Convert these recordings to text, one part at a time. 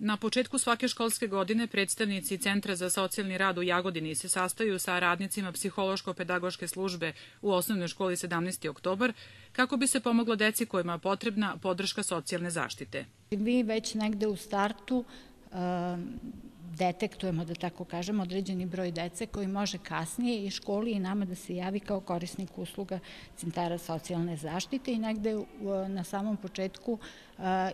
Na početku svake školske godine predstavnici Centra za socijalni rad u Jagodini se sastaju sa radnicima psihološko-pedagoške službe u osnovnoj školi 17. oktobar kako bi se pomoglo deci kojima je potrebna podrška socijalne zaštite. Mi već negde u startu detektujemo, da tako kažem, određeni broj dece koji može kasnije i školi i nama da se javi kao korisnik usluga centara socijalne zaštite i negde na samom početku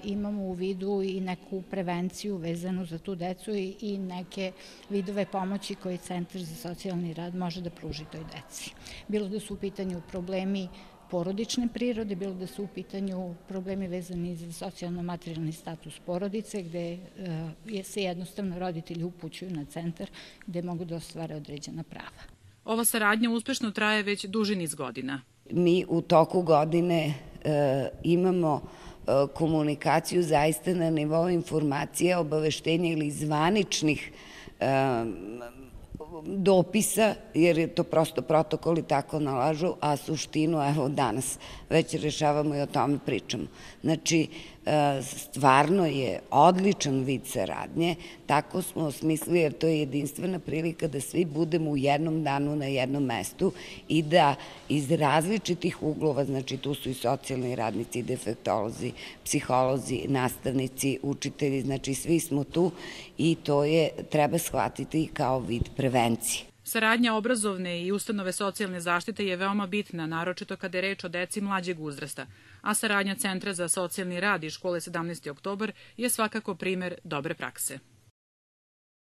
imamo u vidu i neku prevenciju vezanu za tu decu i neke vidove pomoći koje Centar za socijalni rad može da pruži toj deci. Bilo da su u pitanju problemi porodične prirode, bilo da su u pitanju problemi vezani za socijalno-materijalni status porodice, gde se jednostavno roditelji upućuju na centar gde mogu da ostvare određena prava. Ova saradnja uspešno traje već duži niz godina. Mi u toku godine imamo komunikaciju zaista na nivou informacija, obaveštenja ili zvaničnih dopisa, jer je to prosto protokoli tako nalažu, a suštinu, evo danas već rešavamo i o tome pričamo. Znači, stvarno je odličan vid saradnje, tako smo osmislili, jer to je jedinstvena prilika da svi budemo u jednom danu na jednom mestu i da iz različitih uglova, znači tu su i socijalni radnici, defektolozi, psiholozi, nastavnici, učitelji, znači svi smo tu i to treba shvatiti kao vid prevencije. Saradnja obrazovne i ustanove socijalne zaštite je veoma bitna, naročito kada je reč o deci mlađeg uzrasta, a saradnja Centra za socijalni rad i škole 17. oktobar je svakako primer dobre prakse.